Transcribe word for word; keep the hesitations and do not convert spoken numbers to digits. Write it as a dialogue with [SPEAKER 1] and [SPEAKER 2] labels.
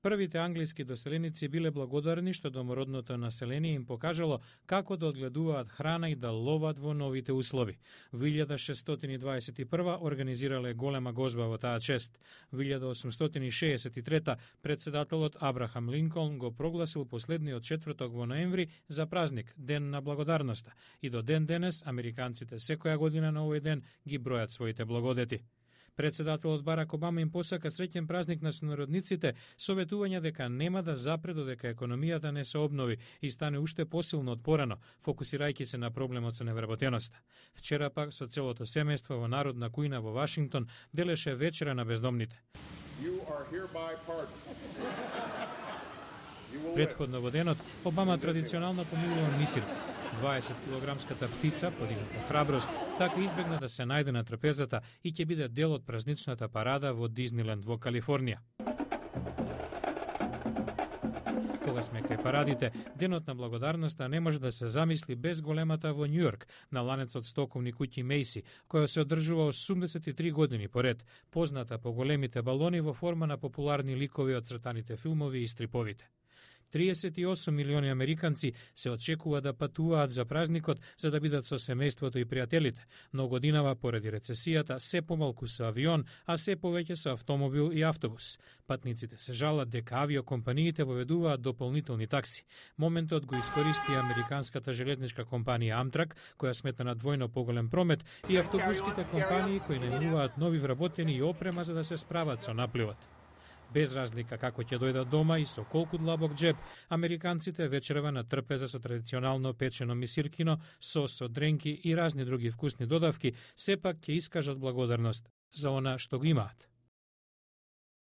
[SPEAKER 1] Првите англиски доселеници биле благодарни што домородното население им покажало како да одгледуваат храна и да ловат во новите услови. Во илјада шестстотини дваесет и прва организирале голема гозба во таа чест. Во илјада осумстотини шеесет и трета председателот Абрахам Линколн го прогласил последниот четврток во ноември за празник, Ден на благодарноста, и до ден денес американците секоја година на овој ден ги бројат своите благодети. Председателот Барак Обама им посака среќен празник на сонародниците, советување дека нема да запре додека економијата не се обнови и стане уште посилно од порано, фокусирајќи се на проблемот со невработеноста. Вчера пак со целото семејство во Народна кујна во Вашингтон делеше вечера на бездомните. Претходно во денот Обама традиционално помилува мисирка. дваесет килограмската птица, подигната храброст, така избегна да се најде на трапезата и ќе биде дел од празничната парада во Дизниленд во Калифорнија. Кога сме кај парадите, Денот на благодарноста не може да се замисли без големата во Њујорк, на ланецот стоковни куќи Мейси, која се одржува осумдесет и три години поред, позната по големите балони во форма на популарни ликови од цртаните филмови и стриповите. триесет и осум милиони американци се очекува да патуваат за празникот за да бидат со семејството и пријателите, но годинава поради рецесијата се помалку со авион, а се повеќе со автомобил и автобус. Патниците се жалат дека авиокомпаниите воведуваат дополнителни такси. Моментот го искористи американската железничка компанија Амтрак, која смета на двојно поголем промет, и автобуските компании кои најмуваат нови вработени и опрема за да се справат со напливот. Без разлика како ќе дојдат дома и со колку длабок джеб, американците вечерва на трпеза со традиционално печено мисиркино, сос од дренки и разни други вкусни додавки, сепак ќе искажат благодарност за она што го имаат.